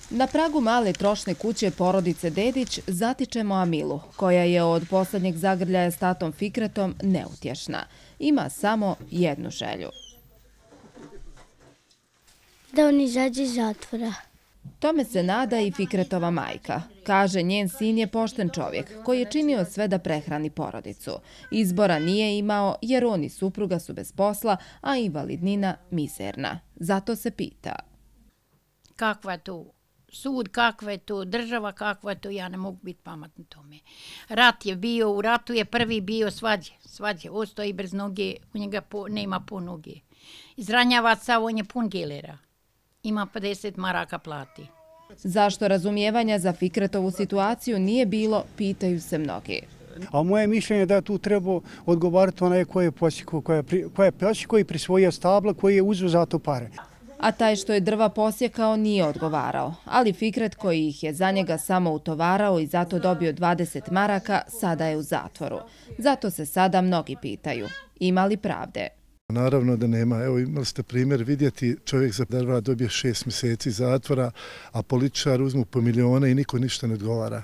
Na pragu male trošne kuće porodice Dedić zatičemo Amilu, koja je od posljednjeg zagrljaja s tatom Fikretom neutješna. Ima samo jednu želju. Da on izađe iz zatvora. Tome se nada i Fikretova majka. Kaže, njen sin je pošten čovjek koji je činio sve da prehrani porodicu. Izbora nije imao jer on i supruga su bez posla, a invalidnina mizerna. Zato se pita. Kakva je to sud, kakva je to država, kakva je to, ja ne mogu biti pametna tome. Rat je bio, u ratu je prvi bio svađe, ostoji bez noge, u njega nema po noge. Izranjava sav, on je pun gelera. Ima 50 maraka plati. Zašto razumijevanja za Fikretovu situaciju nije bilo, pitaju se mnogi. A moje mišljenje je da tu treba odgovarati onaj koji je posjekao i prisvojio stabla, koji je uzeo za to pare. A taj što je drva posjekao nije odgovarao, ali Fikret koji ih je za njega samo utovarao i zato dobio 20 maraka, sada je u zatvoru. Zato se sada mnogi pitaju, ima li pravde? Naravno da nema. Evo imali ste primjer vidjeti, čovjek za drva dobije 6 mjeseci zatvora, a političar uzmu po milione i niko ništa ne odgovara.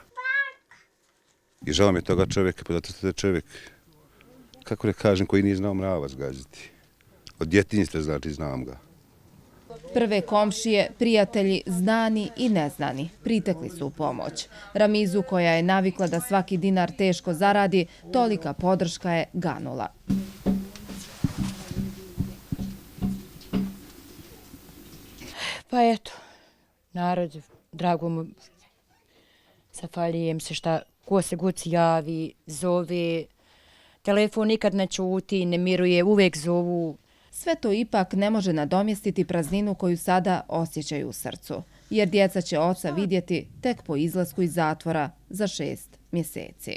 I žao mi je toga čovjeka, pa zato je čovjek, kako ne kažem, koji nije znao mrava zgaziti. Od djetinjstva znači znam ga. Prve komšije, prijatelji, znani i neznani, pritekli su u pomoć. Ramizu, koja je navikla da svaki dinar teško zaradi, tolika podrška je ganula. Pa eto, narod, drago mu, zahvaljujem se šta ko se god javi, zove, telefon nikad ne čuti, ne miruje, uvijek zovu. Sve to ipak ne može nadomjestiti prazninu koju sada osjećaju u srcu, jer djeca će oca vidjeti tek po izlasku iz zatvora za 6 mjeseci.